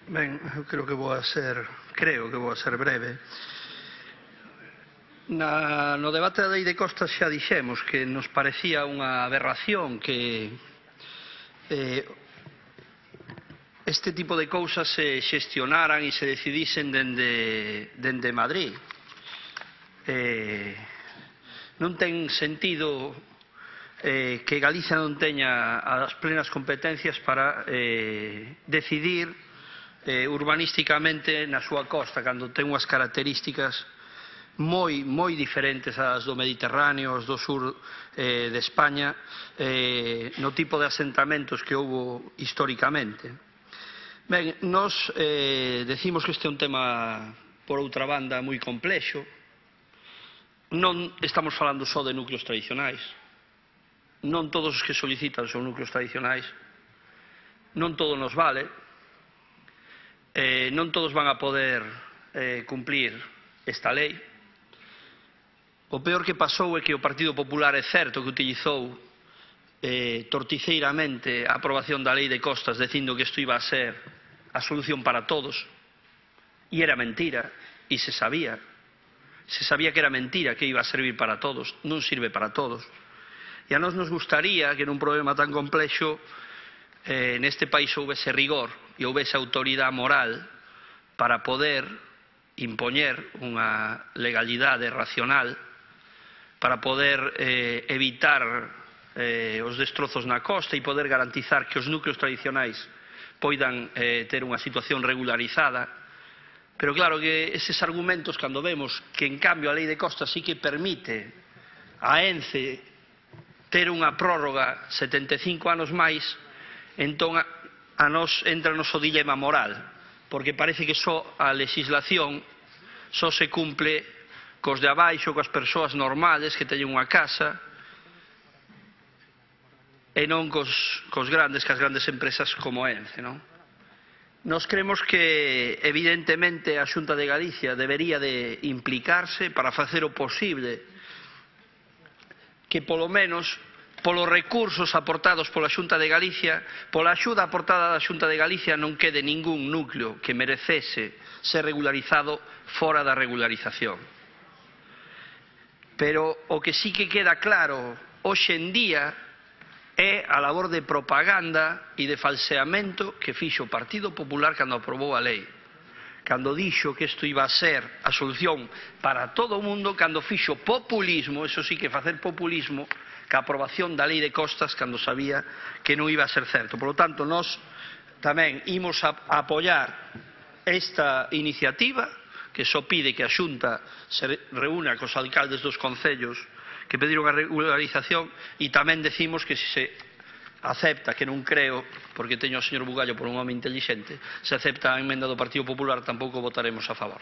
Ben, eu creo que vou a ser breve. No debate da lei de costas xa dixemos que nos parecía unha aberración que este tipo de cousas se xestionaran e se decidisen dende Madrid. Non ten sentido que Galicia non teña as plenas competencias para decidir urbanísticamente na súa costa, cando ten unhas características moi diferentes ás do Mediterráneo, as do sur de España, no tipo de asentamentos que houbo históricamente. Ben, nós decimos que este é un tema, por outra banda, moi complexo. Non estamos falando só de núcleos tradicionais. Non todos os que solicitan son núcleos tradicionais. Non todo nos vale. Non todos van a poder cumplir esta lei. O peor que pasou é que o Partido Popular é certo que utilizou torticeiramente a aprobación da lei de costas dicindo que isto iba a ser a solución para todos, e era mentira, e se sabía que era mentira, que iba a servir para todos. Non sirve para todos. E a nós nos gustaría que nun problema tan complexo neste país houvese rigor e houvese autoridade moral para poder impoñer unha legalidade racional, para poder evitar os destrozos na costa e poder garantizar que os núcleos tradicionais poidan ter unha situación regularizada. Pero claro que eses argumentos, cando vemos que en cambio a lei de costas sí que permite a ENCE ter unha prórroga 75 anos máis, entón a nos entra o noso dilema moral, porque parece que só a legislación só se cumple cos de abaixo, coas persoas normales que teñen unha casa, e non cos grandes, cas grandes empresas como ENCE, non? Nos creemos que, evidentemente, a Xunta de Galicia debería de implicarse para facer o posible que, polo menos, polos recursos aportados pola Xunta de Galicia, pola axuda aportada da Xunta de Galicia, non quede ningún núcleo que merecese ser regularizado fora da regularización. Pero o que sí que queda claro hoxe en día é a labor de propaganda e de falseamento que fixo o Partido Popular cando aprobou a lei. Cando dixo que isto iba a ser a solución para todo o mundo, cando fixo populismo, eso sí que facer populismo, ca aprobación da lei de costas cando sabía que non iba a ser certo. Por lo tanto, nós tamén imos a apoiar esta iniciativa, que só pide que a Xunta se reúna cos alcaldes dos concellos que pediron a regularización, e tamén decimos que se acepta, que non creo, porque teño ao señor Bugallo por un home intelixente, se acepta a emenda do Partido Popular, tampouco votaremos a favor.